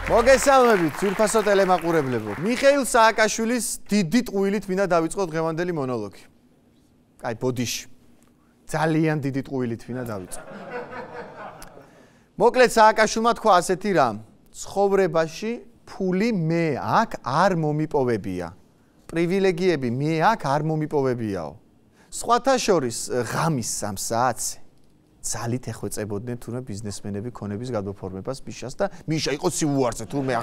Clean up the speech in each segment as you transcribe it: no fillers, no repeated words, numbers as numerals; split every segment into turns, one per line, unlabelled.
მოგესალმებით, ძვირფასო ტელემაყურებლებო. მიხეილ სააკაშვილის დიდი ტყუილით მინდა დავიწყოთ დღევანდელი მონოლოგი. აი, ბოდიში. ძალიან დიდი ტყუილით მინდა დავიწყო. მოკლედ სააკაშვილმა თქვა ასეთი რამ. ცხოვრებაში ფული მე აქ არ მომიპოვებია. პრივილეგიები მე აქ არ მომიპოვებიაო. სხვათა შორის ღამის 3 საათზე ძალით ეხვეწებოდნენ თურმე ბიზნესმენები ქონების გადაფორმებას მიშას და მიშა იყო სიუარზე თურმე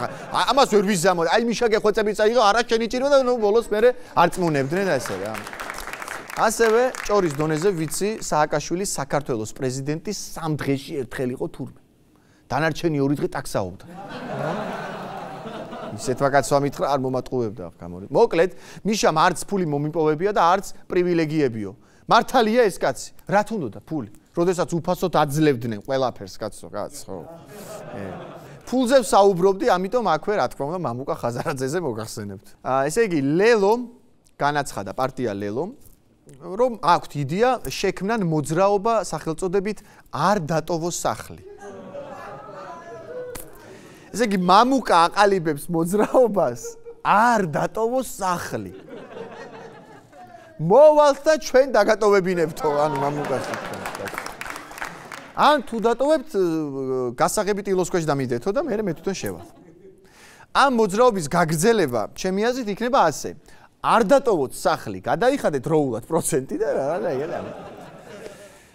ამას ვერ ვიზამოდ აი მიშა გეხვეწებიც აიღო არა შენი ჭირმა და ნუ ბოლოს მე არ წმუნებდნენ ასე რა ასევე ჭორის დონეზე ვიცი სააკაშვილის საქართველოს პრეზიდენტის 3 დღეში ერთხელ იყო თურმე დანარჩენი 2 დღე ტაქსაობდა ისეთ ვაკაცვა მითხრა არ მომატყუებდა ახ გამორე მოკლედ მიშამ არც ფული მომიპოვებია და არც პრივილეგიებიო მართალია ეს კაცი რა თუნდოდა ფული როდესაც უფასოდ აძლევდნენ ყველაფერს კაცო კაცო ფულზე ვსაუბრობდი ამიტომ აქვე რა თქმა უნდა მამუკა ხაზარაძეზე მოგახსენებთ ესე იგი ლელო განაცხადა პარტია ლელო რომ აქვთ იდეა შექმნან მოძრაობა სახელწოდებით არ დატოვოს სახლი ესე იგი მამუკა აყალიბებს მოძრაობას არ დატოვოს სახლი მოვალთ და ჩვენ დაგატოვებინებთო ანუ მამუკაში ან თუ დატოვებთ გასაღებით ილოსქვეშ დამიდეთო და მე თვითონ შევალ. ამ მოძრაობის გაგრძელება ჩემი აზრით იქნება ასე. არ დატოვოთ სახლი, გადაიხადეთ დროულად პროცენტი და რა იგელა.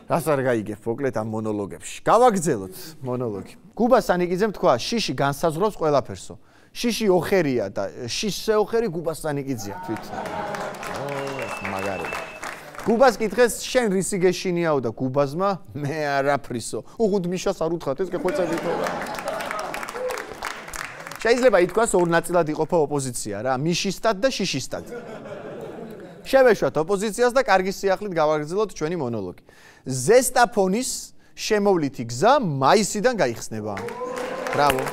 რას არ გაიგებ მოკლედ ამ მონოლოგებში. გავაგრძელოთ მონოლოგი. გუბა სანიკიძემ თქვა, შიში განსაზღვრავს ყველაფერსო. შიში ოხერია და შიშზე ოხერი გუბა სანიკიძეა თვითონ. მაგარია. გუბას კითხეს შენ რისი გეშინიაო და გუბაზმა მე არაფრისო. უღუნდ მიშას არ უთხრათ ეს გეხვეწებითო რა. შეიძლება ითქვას ორ ნაწილად იყოფა ოპოზიცია რა, მიშისტად და შიშისტად. შევეშვათ ოპოზიციას და კარგი სიახლით გავაგრძელოთ ჩვენი მონოლოგი. ზესტაფონის შემოვლითი გზა მაისიდან გაიხსნება. ბრავო.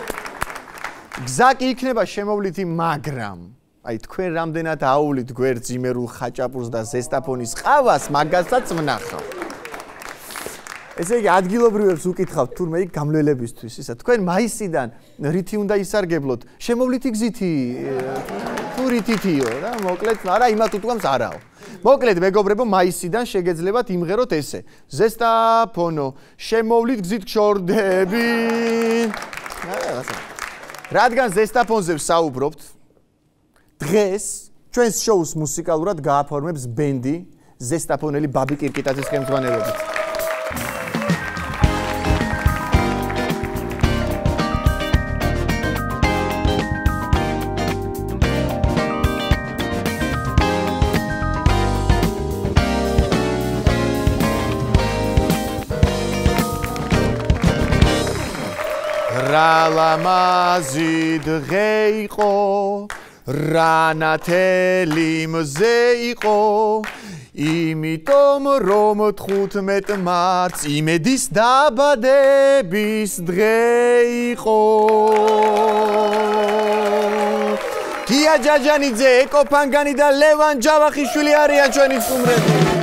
გზა კი იქნება შემოვლითი, მაგრამ აი თქვენ რამდენად აუვლით გვერდს იმერულ ხაჭაპურს და ზესტაფონის ყავას მაგასაც ვნახავ. ესე იგი ადგილობრივებს უკითხავთ თურმე იქ გამლელებისთვის ისა თქვენ მაისიდან რითი უნდა ისარგებლოთ შემოვლითი გზითი თუ რითითიო რა მოკლედ არა იმათ უთქვამს არაო მოკლედ მეგობრებო მაისიდან შეგეძლებათ იმღეროთ ესე ზესტაფონო შემოვლით გზით გშორდები რადგან ზესტაფონზე ვსაუბრობთ დღეს ჩვენს შოუს მუსიკალურად გააფორმებს ბენდი ზესტაფონელი ბაბი კირკიტაძის ხელმძღვანელობით. რა ლამაზი დღე იყო რანათელი მზე იყო იმიტომ რომ 15 მარტს იმედის დაბადების დღე იყო თია ჯაჯანიძე ეკო ფანგანი და ლევან ჯავახიშვილი არიან ჩვენი სტუმრები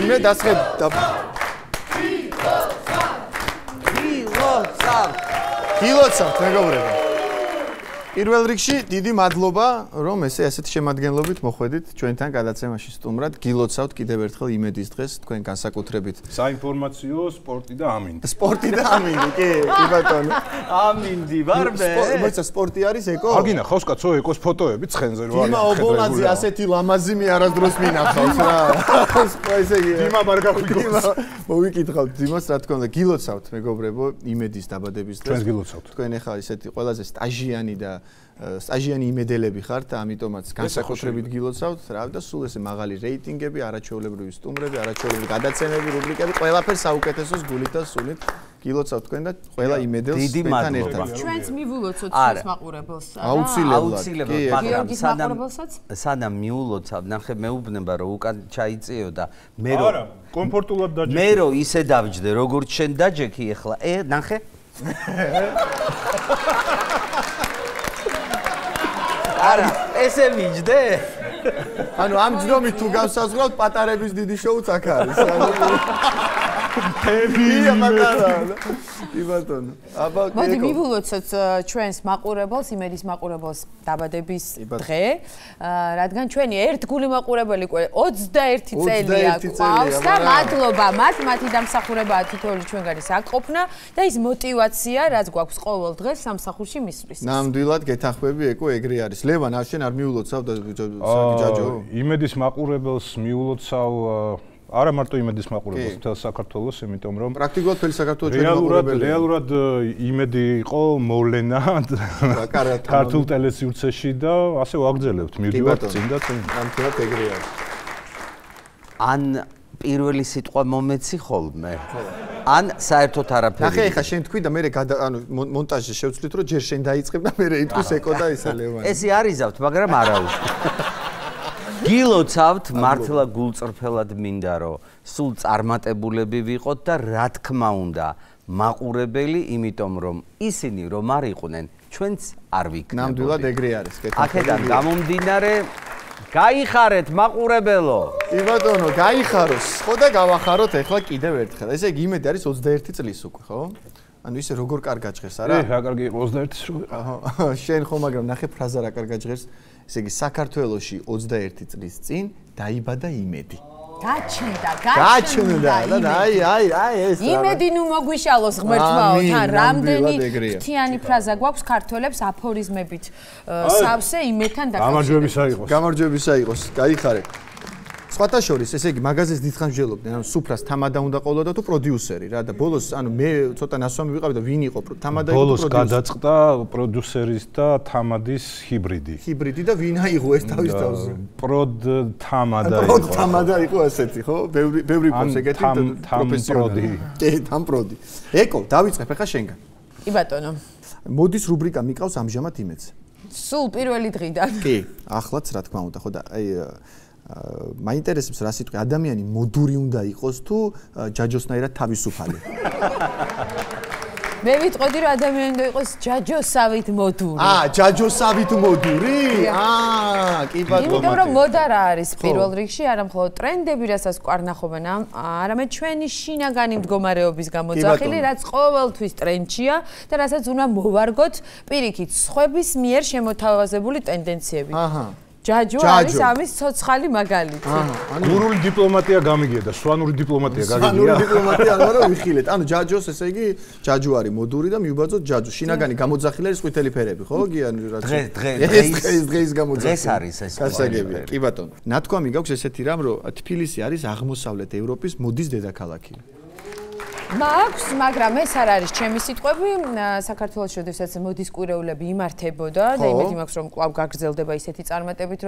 მე დასხებ კილოცავთ მეგობრებო პირველ რიგში დიდი მადლობა რომ ესეთი შემადგენლობით მოხვედით ჩვენთან გადაცემაში სტუმრად გილოცავთ კიდევ ერთხელ იმედის დღეს თქვენ განსაკუთრებით
საინფორმაციო სპორტი და ამინდი
სპორტი და ამინდი კი ბატონო
ამინდი ვარ მე
მოიცა სპორტი არის ეკო
აგინა ხავს კაცო ეკოს ფოტოები ცხენზე რო არის
დიმა ობოლაძე ასეთი ლამაზი მე არასდროს მინახავს რა ესე იგი
დიმა არ გახვიქოს
მოვიკითხავთ დიმას რა თქმა უნდა გილოცავთ მეგობრებო იმედის დაბადების დღეს
ჩვენს გილოცავთ
თქვენ ახლა ესეთი ყველაზე სტაჟიანი და სტაჟიანი იმედელები ხართ, ამიტომაც განსაკუთრებით გილოცავთ, რა და სულ ესე მაღალი რეიტინგები, არაჩვეულებრივი სტუმრები, არაჩვეულებრივი გადაცემები, რუბრიკები, ყველაფერს საუკეთესოს გულით და სულით გილოცავთ თქვენ და ყველა იმედელს თქვენთან ერთად.
ჩვენც მივულოცოთ ჩვენს მაყურებელს.
აუცილებლად.
მაგრამ სანამ მიულოცავ, ნახე მეუბნება რომ უკან ჩაიწიო და მე რომ
არა, კომფორტულად დაჯექი.
მე რომ ისე დავჯდე, როგორც შენ დაჯექი ახლა. ნახე არა, ესე მიჯდე?
ანუ ამ ჯდომით თუ გავსაზღვრავთ პატარების დიდი შოუც აქ არის. ფებია პატარა. კი ბატონო. აბა
მოდი მივულოცოთ ჩვენს მაყურებელს, იმედის მაყურებელს დაბადების დღე, რადგან ჩვენი ერთგული მაყურებელი 21 წელია ყავს და მადლობა მათი დამსახურებაა თითოეული ჩვენგანი საკყოფნა და ის мотиваცია, რაც გვაქვს ყოველ დღეს სამსახურში მისვლის.
ნამდვილად გეთანხმები ეკო ეგრე არის. ლევან, არ შენ არ მიულოცავ და ჯაჯო?
იმედის მაყურებელს მიულოცავ არა მარტო იმედის მაყურებელს, მთელ საქართველოს, იმიტომ რომ
პრაქტიკულად მთელი საქართველოს ჩვენი მაყურებელი.
რეალურად იმედი იყო მოვლენა ქართულ ტელესივრცეში და ასე ვაგრძელებთ. მივდივართ წინ და წინ.
ნამდვილად ეგრე არის.
ან პირველი სიტყვა მომეცი ხოლმე? ან საერთოდ არაფერი?
ნახე, ეხა შენ თქვი და მე ანუ მონტაჟში შევცვლით, რომ ჯერ შენ დაიწყებ და მე იტყვის ეკო და ისა ლევანი.
ესე არიზავთ, მაგრამ არა უშ. გილოცავთ მართლა გულწრფელად მინდა რომ სულ წარმატებულები ვიყოთ და რა თქმა უნდა მაყურებელი, იმიტომ რომ ისინი რომ არ იყვნენ, ჩვენც არ ვიქნებოდი.
ნამდვილად ეგრე არის.
აქედან გამომდინარე გაიხარეთ მაყურებელო.
კი ბატონო, გაიხაროს. ხო და გავახაროთ ახლა კიდევ ერთხელ. ესე იგი იმედი არის 21 წლის უკვე, ხო? ანუ ისე როგორ კარგად ჟღერს, არა?
რა კარგი იყო 21-ის რო.
აჰა, შენ ხო მაგრამ ნახე ფრაზა რა კარგად ჟღერს. ესე იგი საქართველოში 21 წლის წინ დაიბადა იმედი.
გაჩნდა
და აი ეს
იმედი ნუ მოგვიშალოს ღმერთმაო, თან რამდენი ფრთიანი ფრაზა გვაქვს ქართველებს აფორიზმებით სავსე იმედთან
დაკავშირებით.
გამარჯვებისა იყოს. გაიხარეთ. სხვათა შორის, ესე იგი, მაღაზიას დიდხანს ვжелობდნენ, ანუ სუფრას თამადა უნდა ყოლოდა თუ პროდიუსერი რა და ბოლოს, ანუ მე ცოტა ნასვამი ვიყავი და ვინ იყო თამადა იყო
ბოლოს გადაწყდა პროდიუსერის და თამადის ჰიბრიდი.
ჰიბრიდი და ვინ აიღო ეს თავის თავზე?
თამადა იყო.
თამადა იყო ასეთი, ხო? ბევრი ფოს ეგეთი პროფესიონალი. კი, თამპროდი. ეკო, დავიწყებ ახლა შენგან.
კი ბატონო.
მოდის რუბრიკა მიყავს ამჟამად იმედს.
სულ პირველი დღიდან.
კი, ახლაც რა თქმა უნდა, ხო და აი მაინტერესებს რა სიტყვი ადამიანი მოდური უნდა იყოს თუ ჯაჯოსნაირად თავისუფალი.
მე ვიტყოდი რომ ადამიანი უნდა იყოს ჯაჯოსავით მოდური.
ჯაჯოსავით მოდური? კი ბატონო.
იმიტომ რომ მოდა რა არის პირველ რიგში, არა მხოლოდ ტრენდები, რასაც ყარნახობენ, არამედ ჩვენი შინაგანი მდგომარეობის გამოძახილი, რაც ყოველთვის ტრენდშია და რასაც უნდა მოვარგოთ პირიქით სხვების მიერ შემოთავაზებული ტენდენციები. ჯაჯო არის ამის ცოცხალი მაგალითი.
გურული დიპლომატია გამიგია და სვანური დიპლომატია გაგიგია.
სვანური დიპლომატია არა ვიხილეთ. ანუ ჯაჯოს ესე იგი ჯაჯო არის მოდური და მიუბაძოთ ჯაჯო. შინაგანი გამოძახილი არის ყვითელი ფერები, ხო? გიანი რა. დღეს გამოძახილი.
ეს არის ეს.
გასაგებია. კი ბატონო. ნათქვამი გაქვს ესეთი რამ, რომ თბილისი არის აღმოსავლეთ ევროპის მოდის დედაქალაქი.
მაქვს, მაგრამ ეს არ არის ჩემი სიტყვები. საქართველოს შესაძაც მოდის კვირეულები იმართებოდა და იმედი მაქვს რომ კვლავ გაგრძელდება ისეთი წარმატებით,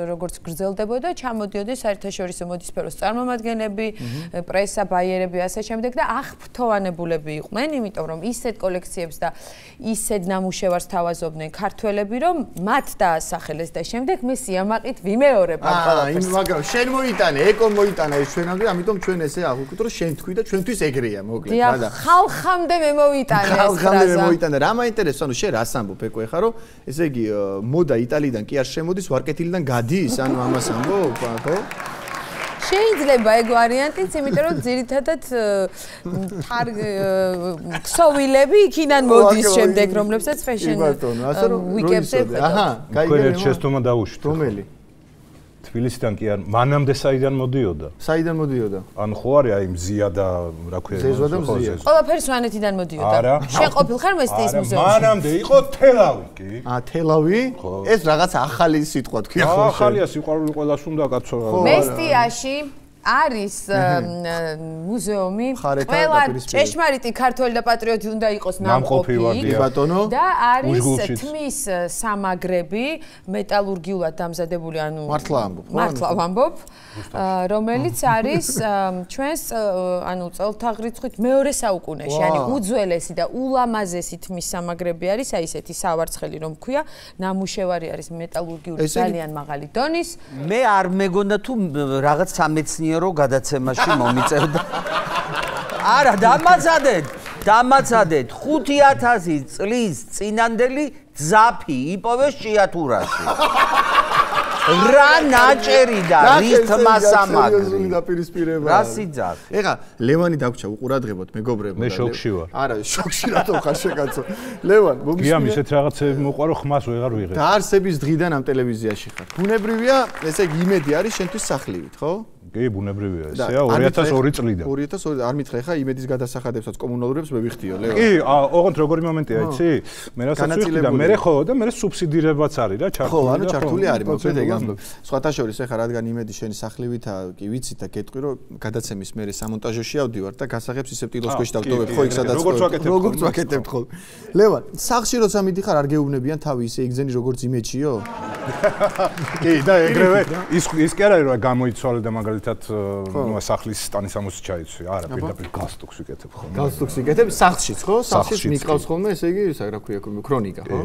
როგორც გრძელდებოდა, ჩამოდიოდეს საერთაშორისო მოდის სფეროს წარმომადგენლები, პრესა, ბაიერები, ასე შემდეგ და აღფრთოვანებულები იყვნენ, იმიტომ რომ ისეთ კოლექციებს და ისეთ ნამუშევარს თავაზობდნენ ქართველები, რომ მათ დაასახელეს და შემდეგ მე სიამაყით ვიმეორებ ამ ყველაფერს.
მაგრამ შენ მოიტანე, ეკო მოიტანა ეს ჩვენამდე, ამიტომ ჩვენ ესე აღვიქვით, რომ შენ თქვი და ჩვენთვის ეგრეა.
მოკლედ ხალხამდე მე მოვიტანე ეს ფრაზა.
ხალხამდე მე მოვიტანე. რა მაინტერესებს, ანუ შენ რას ამბობ ეკო ეხა რომ ესე იგი მოდა იტალიიდან კი არ შემოდის, ვარკეთილიდან გადის, ანუ ამას ამბობ, ხო?
შეიძლება ეგ ვარიანტიც, იმიტომ რომ ძირითადად ქსოვილები იქიდან მოდის შემდეგ, რომლებსაც fashion week-ებზე ხედავ.
აჰა,
გაიგე შეცდომა დაუშვით.
რომელი?
თბილისიდან კი არ, მანამდე საიდან მოდიოდა?
საიდან მოდიოდა?
ანუ ხო არის აი მზია და რა ქვია?
ზეზვა და მზია.
ყველაფერი სვანეთიდან მოდიოდა. შენ ყოფილ ხარ მესტიის მუზეუმში?
მანამდე იყო თელავი კი.
თელავი? ეს რაღაც ახალი სიტყვა თქვია ხო?
ახალია, სიყვარული ყველას უნდა კაცო.
მესტიაში არის მუზეუმი, ყველა ჭეშმარიტი ქართველი და პატრიოტი უნდა იყოს ნამყოფი და არის თმის სამაგრები, მეტალურგიულად დამზადებული, ანუ მართლა ვამბობ, რომელიც არის ჩვენს ანუ წელთაღრიცხვით მეორე საუკუნეში, ანუ უძველესი და ულამაზესი თმის სამაგრები არის, აი ესეთი სავარცხელი რომ ქვია, ნამუშევარი არის მეტალურგიული ძალიან მაღალი დონის.
მე არ მეგონა თუ რაღაც სამეცნიერო გადაცემაში მომიწევდა. არა, დამაზადეთ. დამაცადეთ 5000 წლის წინანდელი ძაფი იპოვეს ჭიათურაში. რა ნაჭერი და რით მასამაგრი
დაპირისპირება.
რა სიძახ.
ეხა ლევანი დაგვრჩა უყურადღებოთ მეგობრებო.
მე შოქში ვარ.
არა, შოქში რატო ხარ შეკაცო. ლევან, მოგისმენთ.
გიამ ისეთ რაღაცები მოყვარო ხმას ვეღარ ვიღებ.
დაარსების დღიდან ამ ტელევიზიაში ხარ. ბუნებრივია, ესე იგი იმედი არის შენთვის სახლივით, ხო?
კი, ბუნებრივია ესეა 2002 წლიდან.
2002 არ მითხრა ხა იმედის გადასახადებსაც კომუნალურებს მე ვიხდიო, ლევან.
კი, ოღონდ როგორი მომენტია, იცი? მე რასაც ვიხდი და მე ხო და მე სუბსიდირებაც არის რა, ჩართული.
ხო, ანუ ჩართული არის, მოკლედ ეგ ამბობ. სხვათა შორის ეხა რადგან იმედი შენი სახლივითა, კი ვიცით და გეტყვი რომ გადაცემის მერე სამონტაჟოში ავდივარ და გასაღებს ისე ტილოს ქვეშ დავტოვებ, ხო იქ სადაც როგორც ვაკეთებთ ხოლმე. ლევან, სახლში როცა მიდიხარ არ გეუბნებიან თავი ისე იგზენი როგორც იმეჩიო?
კი, და ეგრევე ის კი არა რომ გამოიცვალე და მაგალითად ნუ სახლის სტანისამოსი ჩაიცვი. არა, პირდაპირ გასტუქს ვიკეთებ ხოლმე.
გასტუქს ვიკეთებ სახლშიც, ხო? სახლშიც მიყავს ხოლმე, ესე იგი, რა ქვია, ქრონიკა, ხო?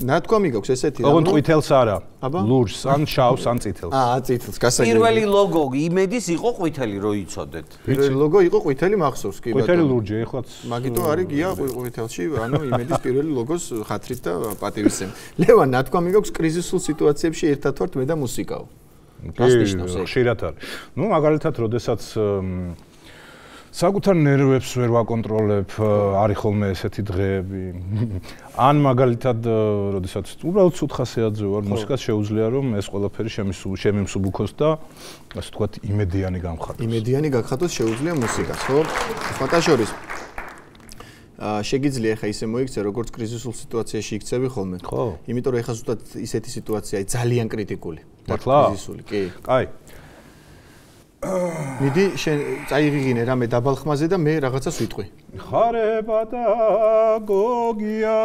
ნათქვამი გაქვს ესეთი რა.
ოღონდ ყვითელს არა. ლურჯს, ან შავს, ან წითელს.
წითელს, გასაგებია.
პირველი ლოგო იმედის იყო ყვითელი რო იცოდეთ.
პირველი ლოგო იყო ყვითელი მახსოვს, კი ბატონო.
ყვითელი ლურჯი, ეხლაც.
მაგითო არის გია ყვითელში, ანუ იმედის პირველი ლოგოს ხათრით და პატივისცემ. ლევან, ნათქვამი გაქვს კრიზისულ სიტუაციებში ერთად ვართ მე და მუსიკაო. გასნიშნავს ეგ.
ხშირად არის. ნუ მაგალითად, როდესაც საკუთარ ნერვებს ვერ ვაკონტროლებ, არის ხოლმე ესეთი დღეები. ან მაგალითად, როდესაც უბრალოდ ცუთხასეაძე ვარ, მუსიკას შეუძლია რომ ეს ყველაფერი შემიმსუბუქოს და ასე ვთქვათ, იმედიანი გამხატოს.
იმედიანი გაგხატოს შეუძლია მუსიკას, ხო? სხვათა შორის შეგიძლია ხა ისე მოიქცე როგორც კრიზისულ სიტუაციაში იქცევი ხოლმე.
ხო.
იმიტომ რომ ეხა ზუსტად ისეთი სიტუაცია აი ძალიან კრიტიკული.
მართლა?
კრიზისული, კი.
კაი.
მიდი შენ წაიღიღინე რამე დაბალხმაზე და მე რაღაცას ვიტყვი.
ხარება და გოგია.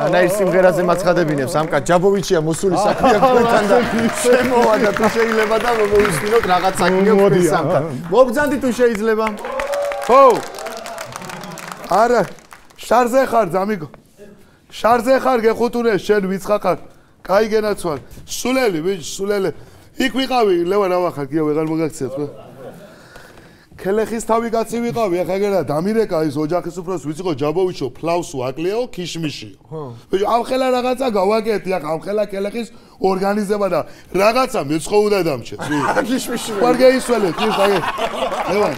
ანა ის სიმღერაზე მაცხადებინებს ამკა ჯაბოვიჩია მოსული საქმეა თქვენთან და შემოვა და თუ შეიძლება და მოვისმინოთ რაღაც საქმეა თქვენთან. მოგძანდი თუ შეიძლება. ხო. არა, შარზე ხარ, ზამიგო. შარზე ხარ, გეხუთუნე, შენ ვიცხა ხარ. კაი გენაცვალ. სულელი, ბიჭ, სულელი. იქ ვიყავი, ლევან ავახარ, გია ვეღარ მოგაქცევთ, ხო? ქელეხის თავი კაცი ვიყავი, ახლა გერა დამირეკა ის ოჯახის უფროს ვიც იყო ჯაბოვიჩო, ფლავსო, აკლეო, ქიშმიში. ხო. ბიჭო, ამ ხელა რაღაცა გავაკეთე, ახლა ამ ხელა ქელეხის ორგანიზება და რაღაცა მეცხოვუდა დამჭეს. ქიშმიში. ვარ გეისველეთ, ის აი. ლევან.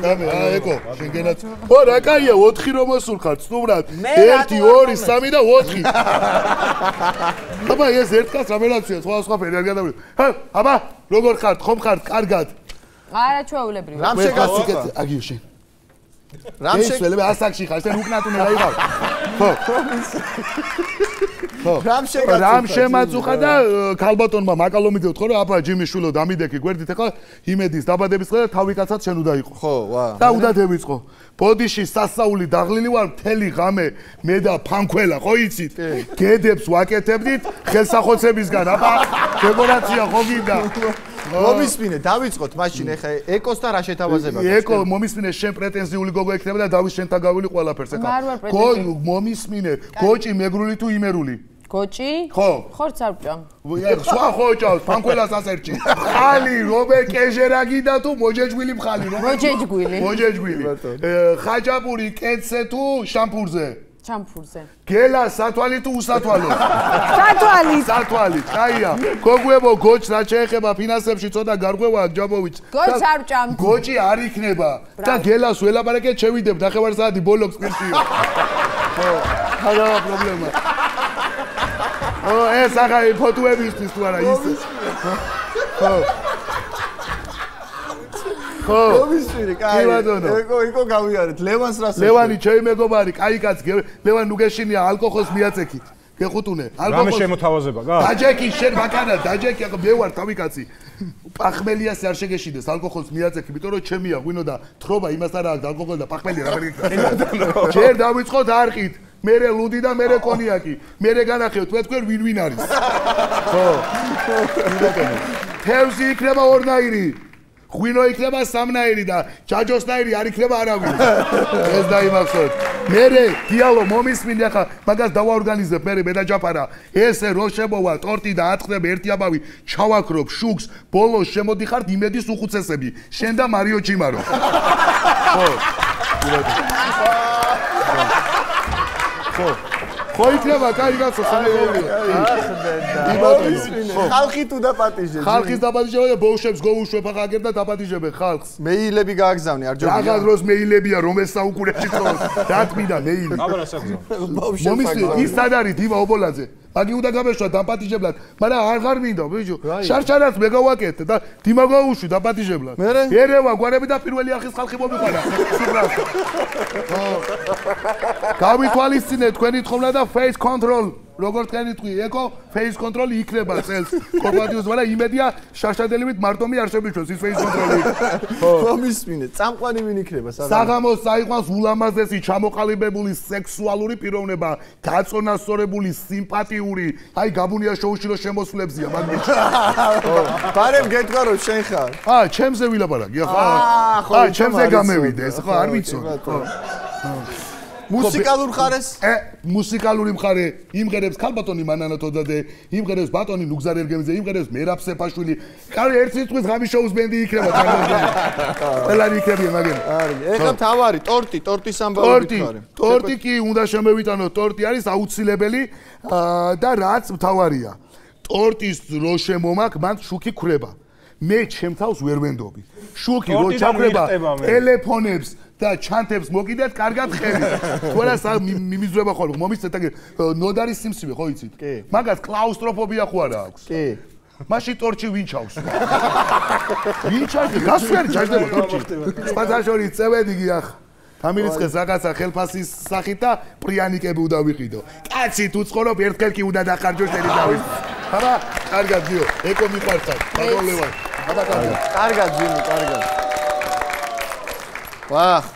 დამე, ეკო, შენ გენაც. ო, რა კაია, 4 რომ მოსულხარ, სტუმრად. 1, 2, 3 და 4. აბა, ეს ერთკაც რამელაცია, სხვა ფერი არ გადავიდე. ჰა, აბა, როგორ ხართ, ხომ ხართ, კარგად?
არა ჩვეულებრივი.
რამ შეგაციკეთ, აგიო შენ. რამ შეგელებ ასაკში ხარ, შენ უკნატუნე რა იყავ. ხო. ხო. რამ შემაწუხა და ქალბატონმა მაკალომიდევთ ხო რა აფა ჯიმიშვილო დამიდექი გვერდით ახლა იმედის დაბადების დღე და თავი კაცად შენ უნდა იყო. ხო, ვა. და უნდა დევიწყო. ბოდიში სასაული დაღლილი ვარ მთელი ღამე მე და ფანქველა ხო იცით? გედებს ვაკეთებდით ხელსახოცებისგან აფა დეკორაცია ხო გინდა? მომისმინე, დავიწყოთ მაშინ ეხა ეკოს და რა შეთავაზება გაქვს? ეკო მომისმინე, შენ პრეტენზიული გოგო ექნება და დავის შენთან გავილი ყველაფერს ეხა. მომისმინე, გოჭი მეგრული თუ იმერული? გოჭი? ხო. ხორც არ ვჭამ. სხვა ხო ჭავს, ფანქველას ასერჩი. ხალი, რომე კეჟერა გიდა თუ მოჯეჯგვილი მხალი, რომე? მოჯეჯგვილი. მოჯეჯგვილი. ხაჭაპური კეცე თუ შამპურზე? ჩამფურზე. გელა სათვალი თუ უსათვალო? სათვალი. სათვალი. კაია. გოგუებო, გოჭს რა შეეხება ფინანსებში ცოტა გარღვევა ჯაბოვიჩ. გოჭს არ ვჭამ. გოჭი არ იქნება. და გელას ველაპარაკეთ, შევიდებ ნახევარ საათი ბოლოქს პირშიო. ხო, არა პრობლემა. ო, ეს ახლა ფოტოებისთვის თუ არა ის. ხო. ხო. მომისმინე, კაი. ეკო გავიარეთ. ლევანს რას? ლევანი ჩემი მეგობარი, კაი კაცი. ლევან ნუ გეშინია ალკოჰოლს მიაწექით. გეხუთუნე.
ალკოჰოლს. რამე შემოთავაზება, გა?
დაჯექი შენ ბაკანა, დაჯექი, ახლა მე ვარ თავი კაცი. პახმელიას არ შეგეშინდეს, ალკოჰოლს მიაწექი, იმიტომ რომ ჩემია, ღვინო და თხრობა იმას არა აქვს ალკოჰოლი და პახმელი რა ვერ ჯერ დავიწყოთ არყით. მერე ლუდი და მერე კონიაკი. მერე განახევთ თქვენ ვინ არის. ხო. თევზი იქნება ორნაირი. ღვინო იქნება სამნაირი და ჯაჯოსნაირი არ იქნება არავინ. ეს დაიმახსოვრეთ.
მერე დიალო მომისმინე ახლა მაგას დავაორგანიზებ მე და ჯაფარა ესე რო შემოვა ტორტი და ატყდებ ერთი აბავი ჩავაქრობ შუქს ბოლოს შემოდიხართ იმედის უხუცესები შენ და მარიო ჩიმარო ხო იქნება კაი გასო სამეურია
ხალხი თუ დაპატიჟებს
ხალხის დაპატიჟება და ბოუშებს გოუშვებ ახლა აგერ და დაპატიჟებენ ხალხს
მეილები გააგზავნე არ ჯობია
რაღაც დროს მეილებია რომ ეს საუკუნეში წოვს დათმიდა მეილი
აბა რა საგზავნო
მომისლი ის სად არის დიმა ობოლაძე მაგი უნდა გამეშვა დაპატიჟებლად მაგრამ აღარ მინდა ბიჭო შარშარას მე გავაკეთე და დიმა გაუშვი დაპატიჟებლად ერევა გვარები და პირველი არხის ხალხი მომიყარა სუბრას გავითვალისწინეთ თქვენი თხოვნა და face control როგორც თქვენი თქვი ეკო face control იქნება წელს კორპორატიულს მაგრამ იმედია შარშადელივით მარტომი არ შემიჩვენს ის face control-ი
მომისმინე წამყვანი ვინ იქნება
საღამოს წაიყვანს ულამაზესი ჩამოყალიბებული სექსუალური პიროვნება გაწონასწორებული სიმპათიური აი გაბუნია შოუში რო შემოსვლებზია მაგიჩი
ბარემ გეტყვა რომ შენ ხარ
ჩემზე ვილაპარაკი ხო ჩემზე გამევიდე ეს ხო არ ვიცი
მუსიკალურ მხარეს
მუსიკალური მხარე იმღერებს ქალბატონი მანანა თოდადე იმღერებს ბატონი ნუგზარ ერგემიძე იმღერებს მერაბ სეფაშვილი კარი ერთ სიტყვის ღამის შოუს ბენდი იქნება ყველანი იქნებიან მაგენ
ეხლა თავარი ტორტის ამბავი ვიქარე
ტორტი კი უნდა შემევიტანოთ ტორტი არის აუცილებელი და რაც მთავარია ტორტის რო შემომაქ მან შუქი ქრება მე ჩემთავს ვერ ვენდობი შუქი რო ჩაქრება ტელეფონებს და ჩანთებს მოკიდეთ კარგად ხელი თორე მიმიზრება ხოლმე მომიცეთ აგ ნოდარი სიმსივე ხო იცით მაგას კლაუსტროფობია ხო არა აქვს
კი
მაშინ ტორჩი ვინ ჩავს ვინ ჩავს გასვერი ჩაჯდება ტორჩი სპაზაშორი წევედი გიახ თამილისხეს რაღაცა ხელფასის სახით და პრიანიკები უნდა ვიყიდო კაცი თუ ცხოვრობ ერთხელ კი უნდა დახარჯო შენი თავის აბა კარგად ძიო ეკო მიყვარხარ ბატონლევან აბა
კარგად ძინო კარგად ვახ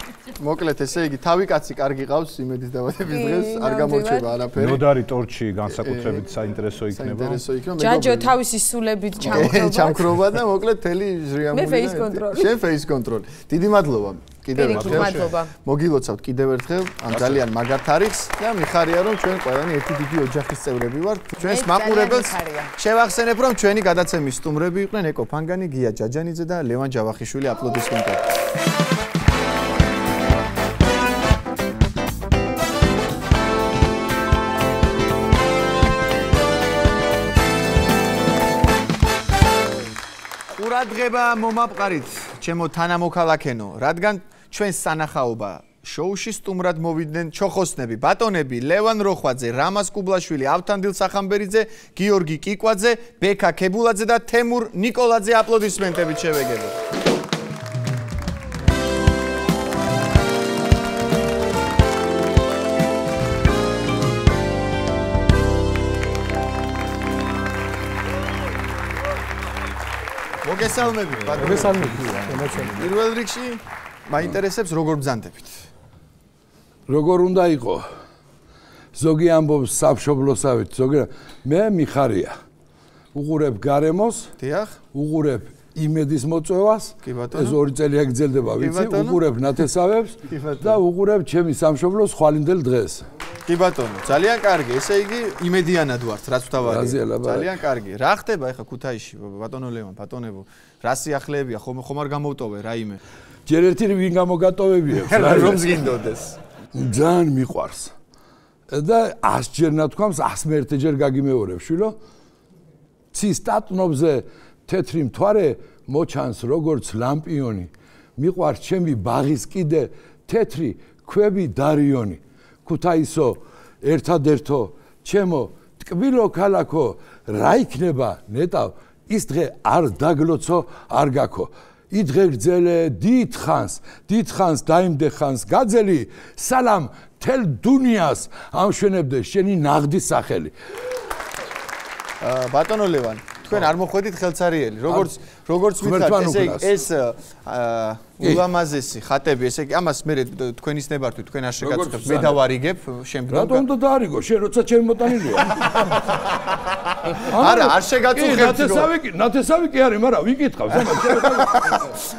მოკლედ ესე იგი თავი კაცი კარგი ყავს იმედის დაბადების დღეს არ გამორჩება არაფერი
ნოდარი ტორჩი განსაკუთრებით საინტერესო იქნება
ჯაჯო თავისი სულებით
ჩამქრობა და მოკლედ თელი ჟრიამული
მე face control
შენ face control დიდი მადლობა კიდევ ერთხელ მოგილოცავთ კიდევ ერთხელ ამ ძალიან მაგარ თარიღს და მიხარია რომ ჩვენ ყველანი ერთი დიდი ოჯახის წევრები ვართ ჩვენს მაყურებელს შევახსენებ რომ ჩვენი გადაცემის სტუმრები იყვნენ ეკო ფანგანი გია ჯაჯანიძე და ლევან ჯავახიშვილი აპლოდისმენტები ყურადღება მომაპყარით ჩემო თანამოქალაქენო რადგან ჩვენს სანახაობა შოუში სტუმრად მოვიდნენ ჩოხოსნები ბატონები ლევან როხვაძე რამაზ კუბლაშვილი ავთანდილ სახამბერიძე გიორგი კიკვაძე ბექა ქებულაძე და თემურ ნიკოლაძე აპლოდისმენტებით შევეგებოთ მოგესალმებით ბატონო პირველ რიგში მაინტერესებს როგორ ბრძანდებით
როგორ უნდა იყო ზოგი ამბობს სამშობლოსავით ზოგი მე მიხარია უყურებ გარემოს
დიახ
უყურებ იმედის მოწვევას ეს ორი წელი აგრძელდება ვიცი უყურებ ნათესავებს და უყურებ ჩემი სამშობლოს ხვალინდელ დღეს
კი ბატონო ძალიან კარგი ესე იგი იმედიანად ვართ რაც ვთავარია ძალიან კარგი რა ხდება ეხა ქუთაისში ბატონო ლევან ბატონებო რა სიახლეებია ხომ არ გამოვტოვე რაიმე
ჯერ ერთი ვინ გამოგატოვებიებს
რომ ზგინდოდეს
ძალიან მიყვარს და 100 ჯერ ნათქვამს 101 ჯერ გაგიმეორებ შვილო ცის სტატნობზე თეთრი მთვარე მოჩანს როგორც ლამპიონი მიყვარს ჩემი ბაღის კიდე თეთრი ქვები დარიონი ქუთაისო ერთადერთო ჩემო ტკბილო ქალაქო რა იქნება ნეტავ ის დღე არ დაგლოცო არ გაქო იდღე გძელე დიდხანს დაიმდე ხანს გაძელი სალამ თელ დუნიას ამშვენებდე შენი ნაღდის სახელი
ბატონო ლევან თქვენ არ მოხვედით ხელცარიელი როგორც მითხრათ ეს ულამაზესი ხატები ესე იგი ამას მე თქვენის ნებართვით თქვენ არ შეგაცხებთ მე დავარიგებ შემდგომ
რატომ უნდა დაარიგო შენ როცა ჩემი მოტანილია
არა, არ შეგაწუხებთ.
ნათესავი კი არის, მაგრამ ვიკითხავს,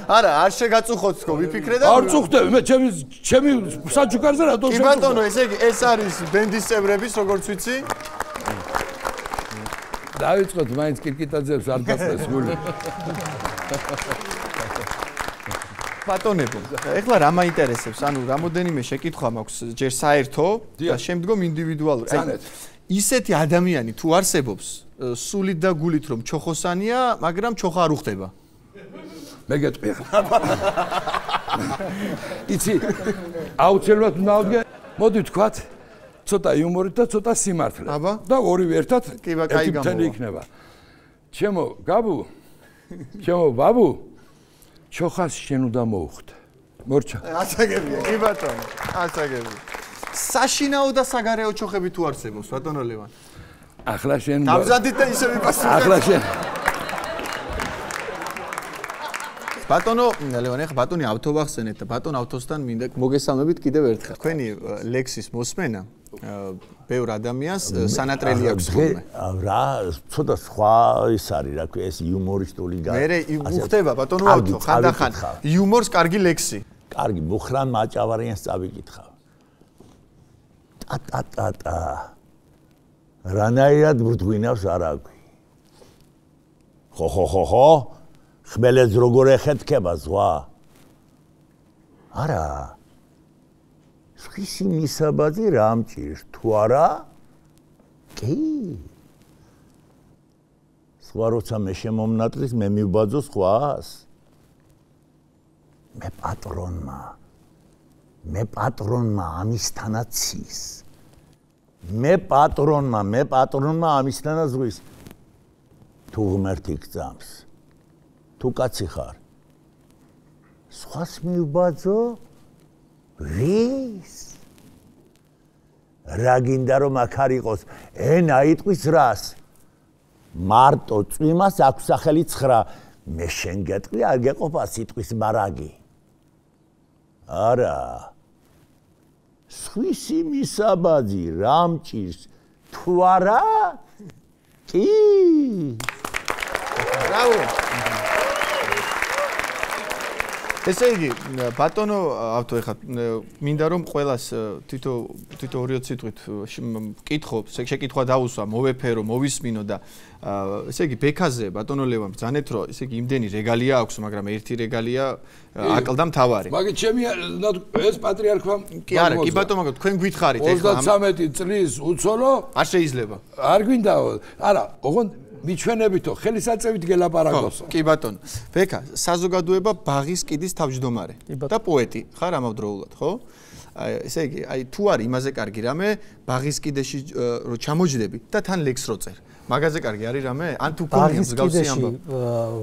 არა, არ შეგაწუხოთ თქო, ვიფიქრე და
არ წუხდები, მე ჩემი საჩუქარზე რატო
შევწუხდი? კი ბატონო, ესე იგი, ეს არის ბენდის წევრების, როგორც ვიცი.
დავიწყოთ მაინც კირკიტაძეებს არ გასწრეს გული.
ბატონებო, ეხლა რა მაინტერესებს? ანუ რამოდენიმე შეკითხვა მაქვს ჯერ საერთო და შემდგომ ინდივიდუალური. ისეთი ადამიანი თუ არსებობს, სულით და გულით რომ ჩოხოსანია, მაგრამ ჩოხა არ უხდება.
მე გეტყვი. იცი, აუცილებლად უნდა ავდგე. მოდი ვთქვათ, ცოტა იუმორით და ცოტა სიმართლე. და ორივე ერთად ერთმთელი იქნება. ჩემო გაბუ, ჩემო ბაბუ, ჩოხას შენ უნდა მოუხდე. მორჩა.
ასაგებია, კი ბატონო, ასაგებია. საშინაო და საგარეო ჩოხები თუ არსებობს, ბატონო ლევან?
ახლა შენ
დამზადეთ და ისე ვიპასუხებ.
ახლა შენ
ბატონო ლევან, ეხლა ბატონი ავთო ვახსენეთ და ბატონ ავთოსთან მინდა მოგესალმებით კიდევ ერთხელ. თქვენი ლექსის მოსმენა ბევრ ადამიანს სანატრელი აქვს ხოლმე.
რა, ცოტა სხვა ის არის, რა ქვია, ეს იუმორისტული გა.
მე უხდება ბატონო ავთო, ხანდახან იუმორს კარგი ლექსი.
კარგი, მუხრან მაჭავარიანს წავიკითხავ. ტა. რანაირად ბრდღვინავს არაგვი. ხო. ხმელეთს როგორ ეხეთქება ზღვა? არა. სხვისი მისაბაძი რა მჭირს თუ არა? კი. სხვა როცა მე შემომნატრის მე მივბაძო სხვას. მე პატრონმა ამისთანაც cis. მე პატრონმა ამისთანაც ზღვის. თუ ღმერთი გძამს. თუ კაცი ხარ. სხვას მივბაძო? ვის? რა გინდა რომ აქ არ იყოს ენა იტყვის რას? მარტო წვიმას აქვს სახელი 9. მე შენ გეტყვი არ გეყოფა სიტყვის მარაგი. არა. სხვისი მისაბაძი რა მჭირს თუ არა? კი.
ბრავო. ესე იგი, ბატონო ავთო ეხლა მინდა რომ ყველას თითო 2-20 სიტყვით მკითხო, შეკითხვა დაუსვა, მოვეფერო, მოვისმინო და ესე იგი ბექაზე ბატონო ლევან ბრძანეთ რომ ესე იგი იმდენი რეგალია აქვს, მაგრამ ერთი რეგალია აკლდა მთავარი.
მაგით ჩემი ეს პატრიარქმა
კი არა, კი ბატონო, მაგრამ თქვენ გითხარით
ეხლა 33 წლის უცოლო
არ შეიძლება.
არ გვინდაო. არა, ოღონდ მიჩვენებითო ხელისაწევით გელაპარაკოსო.
კი ბატონო. ბექა, საზოგადოება ბაღის კიდის თავმჯდომარე და პოეტი ხარ ამავდროულად, ხო? ესე იგი, თუ არის იმაზე კარგი რამე, ბაღის კიდეში რო ჩამოჯდები და თან ლექს რო წერ. მაგაზე კარგი არის რამე? ან თუ გონია მსგავსი ამბავი?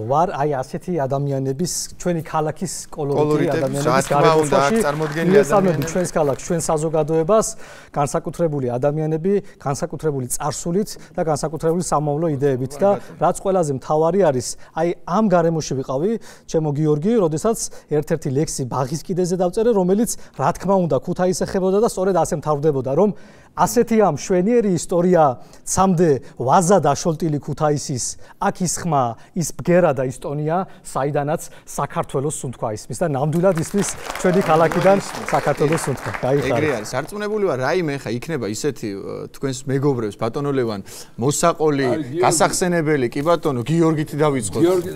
ვარ აი ასეთი ადამიანების, ჩვენი ქალაქის კოლორიტი ადამიანების გარემოში წარმოდგენილი ჩვენს ქალაქს, ჩვენ საზოგადოებას, განსაკუთრებული ადამიანები, განსაკუთრებული წარსულით და განსაკუთრებული სამომავლო იდეებით და რაც ყველაზე მთავარი არის, აი ამ გარემოში ვიყავი, ჩემო გიორგი, როდესაც ერთ-ერთი ლექსი ბაღის კიდეზე დავწერე, რომელიც რა თქმა უნდა ქუთაისს ეხებოდა და სწორედ ასე მთავრდებოდა, რომ ასეთი ამ შვენიერი ისტორია ცამდე ვაზა დაშოლტილი ქუთაისის აქ ის ხმა ის ბგერა და ისტონია საიდანაც საქართველოს სუნთქვა ისმის და ნამდვილად ისმის ჩვენი ქალაქიდან საქართველოს სუნთქვა გაიხარა
ეგრე არის არწმუნებული ვარ რაიმე ხა იქნება ისეთი თქვენს მეგობრებს ბატონო ლევან მოსაყოლი გასახსენებელი კი ბატონო გიორგით დავიწყოთ
გიორგი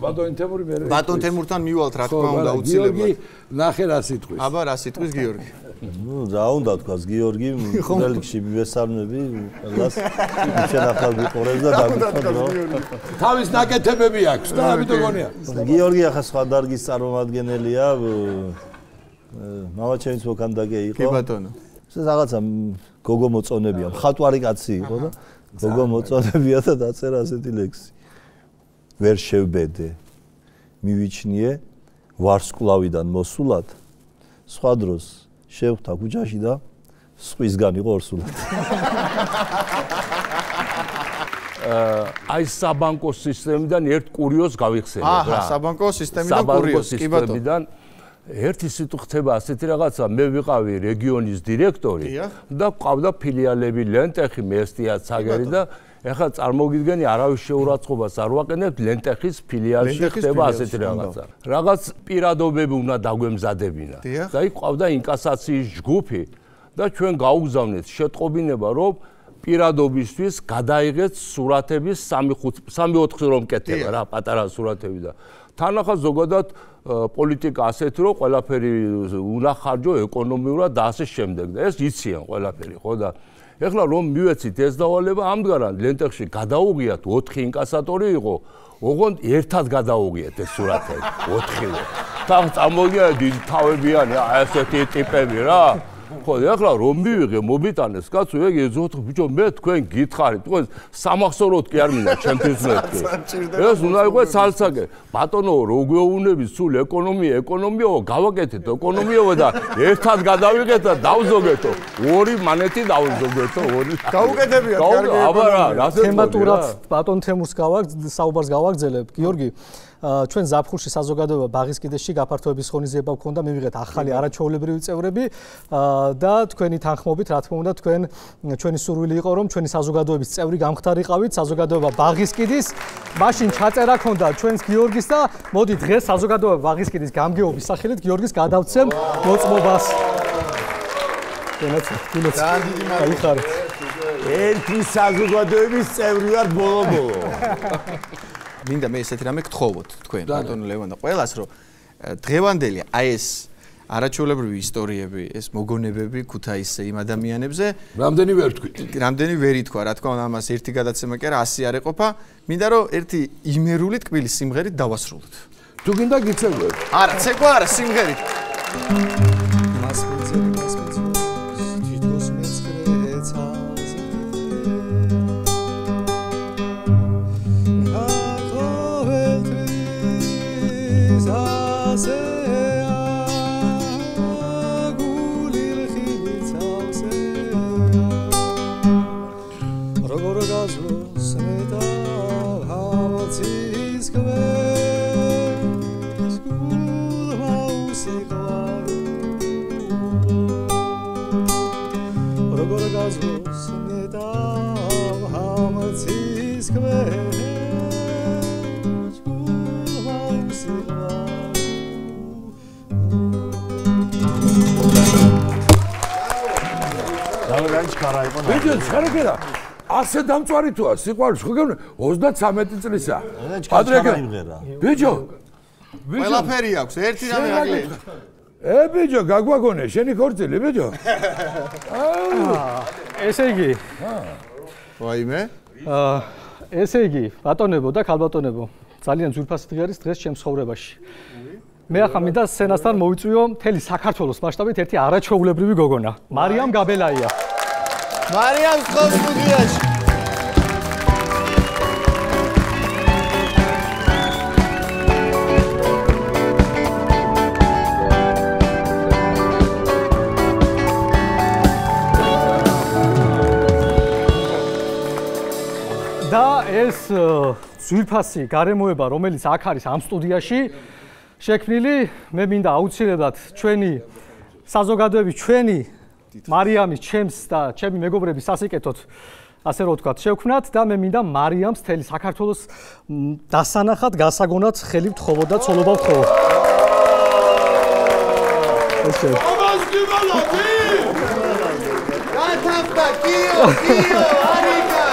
ბატონ თემური მე
ბატონ თემურთან მივალთ რა თქმა უნდა აუცილებლად
გიორგი ნახე რა სიტყვის
აბა რა სიტყვის გიორგი
ну რა უნდა თქვას გიორგი მგრელში მივესალმები ყველას ჩვენ ახალ ვიყურებს და დამიწყო
თავის ნაკეთებები აქვს და ამიტომ გონია
გიორგი ახლა სხვა დარგის წარმომადგენელია მამაჩემის მოქანდაკე იყო
კი ბატონო
ეს რაღაცა გოგო მოწონებია მხატვარი კაცი იყო და გოგო მოწონებია და დაწერა ასეთი ლექსი ვერ შევბედე მივიჩნიე ვარსკვლავიდან მოსულად სხვა დროს შევხვდა ქუჩაში და სხვისგან იყო ორსულად.
აი საბანკო სისტემიდან ერთ კურიოზს გავიხსენებ რა.
აჰა, საბანკო სისტემიდან კურიოზ, კი ბატონო.
ერთი სიტყვა ხდება ასეთი რაღაცა, მე ვიყავი რეგიონის დირექტორი და ყავდა ფილიალები ლენტეხი, მესტია, ცაგერი და ეხლა წარმოგიდგენი არავის შეურაცხყოფას არ ვაყენებთ ლენტეხის ფილიალში ხდება ასეთი რაღაცა. რაღაც პირადობები უნდა დაგვემზადებინა. და იქ ყავდა ინკასაციის ჯგუფი და ჩვენ გაუგზავნეთ შეტყობინება რომ პირადობისთვის გადაიღეთ სურათების 3-4 რომ კეთება რა პატარა სურათები და თან ახლა ზოგადად პოლიტიკა ასეთი რომ ყველაფერი უნდა ხარჯო ეკონომიურად და ასე შემდეგ და ეს იციან ყველაფერი ხო და ეხლა რომ მივეცით ეს დავალება ამდღარად ლენტეხში გადაუღიათ 4 ინკასატორი იყო ოღონდ ერთად გადაუღიათ ეს სურათები 4-ვე თან წამოგია დიდი თავებიანი ასეთი ტიპები რა ხო ეხლა რომ მივიღე მომიტანეს კაცო ეგ ეძოთ ბიჭო მე თქვენ გითხარით თქვენ სამახსოვროდ კი არ მინდა ჩემთვის მეთქე ეს უნდა იყოს სალსაკე ბატონო რო გვეუბნები სულ ეკონომიაო გავაკეთეთ ეკონომიაო და ერთად გადავიღეთ და დავზოგეთო ორი მანეთი დავზოგეთო ორი
გაუკეთებიათ კარგი
აბა რა
თემატურად ბატონ თემურს საუბარს გავაგრძელებ გიორგი ჩვენ ზაფხულში საზოგადოება ბაღის კიდეში გაფართოების ღონისძიება გქონდა მივიღეთ ახალი არაჩვეულებრივი წევრები და თქვენი თანხმობით რა თქმა უნდა ჩვენი სურვილი იყო რომ ჩვენი საზოგადოების წევრი გამხდარიყავით საზოგადოება ბაღის კიდის მაშინ ჩაწერა ქონდა ჩვენს გიორგის და მოდი დღეს საზოგადოება ბაღის კიდის გამგეობის სახელით გიორგის გადავცემ მოწმობას
გაიხარეთ ერთი საზოგადოების წევრი ვარ ბოლო
მინდა მე ესეთი რამე გთხოვოთ თქვენ ბატონო ლევან და ყველას რომ დღევანდელი აი ეს არაჩვეულებრივი ისტორიები ეს მოგონებები ქუთაისზე იმ ადამიანებზე
რამდენი ვერ თქვით
რამდენი ვერ ითქვა რა თქმა უნდა ამას ერთი გადაცემა კი არა 100 არ ეყოფა მინდა რომ ერთი იმერული ტკბილი სიმღერით დავასრულოთ
თუ გინდა გიცეკვეთ
არა ცეკვა არა სიმღერით
ბიჭო შარაკერა ასე დამწვარი თუა სიყვარული ხო გეუბნე 33 წლისა პატრიკა ბიჭო
ყველაფერი აქვს ერთი რამე აღიარეთ
ბიჭო გაგვაგონე შენი ქორწილი ბიჭო
ესე იგი
ვაიმე
ესე იგი ბატონებო და ქალბატონებო ძალიან ძვირფასი დღე არის დღეს ჩემს ცხოვრებაში მე ახლა მინდა სცენასთან მოვიწვიო მთელი საქართველოს მასშტაბით ერთი არაჩვეულებრივი გოგონა მარიამ გაბელაია
მარიამ სტუდიაში
და ეს ძვირფასი გარემოება რომელიც აქ არის ამ სტუდიაში შექმნილი მე მინდა აუცილებლად ჩვენი საზოგადოების ჩვენი მარიამის ჩემს და ჩემი მეგობრების სასიკეთოდ ასე რომ ვთქვათ შევქმნათ და მე მინდა მარიამს მთელი საქართველოს დასანახად გასაგონად ხელი ვთხოვოთ და ცოლობა ვთხოვოთ ესე
გათახდა კიო არიკა